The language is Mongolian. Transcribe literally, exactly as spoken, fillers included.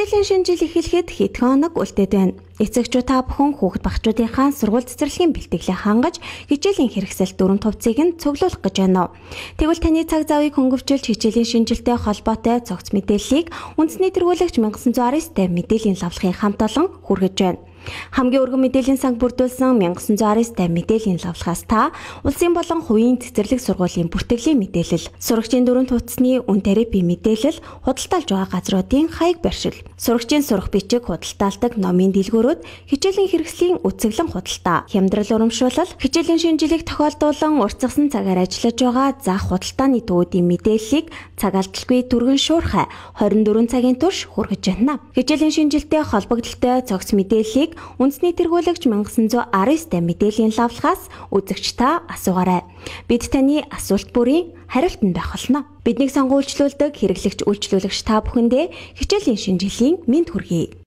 Хичээлийн шинэ жил эхлэхэд хэдхэн хоног үлдээд байна. Эцэгчүүд та бүхэн хүүхэд багчуудынхаа сургууль цэцэрлэгийн бэлтгэлээ хангаж хичээлийн хэрэгсэл дүрм тувцыг нь цуглуулах гэж байна уу? Тэгвэл таны цаг завыг хөнгөвчилж хичээлийн шинжилтэй холбоотой цогц мэдээллийг үндэсний тэргүүлэгч мянга девять сто девять мэдээллийн лавлахын хамт олон хүргэж байна. Хамгийн өргөн мэдээллийн санг бүрдүүлсэн мянга девять сто девять мэдээллийн лавлахаас та улсын болон хувийн цэцэрлэг сургуулийн бүртгэлийн мэдээлэл, сурагчийн дүрм тувцсны үн тарифын мэдээлэл, худалдаалж байгаа газруудын хаяг барьшил, сурагчийн сурах бичиг худалдаалдаг номын дэлгүүрүүд, хичээлийн хэрэгслийн үцэглэн худалдаа, хямдрал урамшуулал, хичээлийн шинжилгээг тохиолдуулан уртсгасан цагаар ажиллаж байгаа зах худалдааны төвүүдийн мэдээллийг цаг алдалгүй түргэн шуурхай двадцать четыре цагийн турш хүргэж байна. Хичээлийн шинжилтэй холбогдолтой цогц мэдээллийг үндэсний тэргүүлэгч мянга девять сто девять мэдээллийн лавлахаас үзэгч та асуугаарай. Бид таны асуулт бүрийн хариултанд байх болно. Биднийг сонгуулжлуулдаг хэрэглэгч үйлчлүүлэгч та бүхэндээ хичээлийн шинжилгээний мэд хүргэе.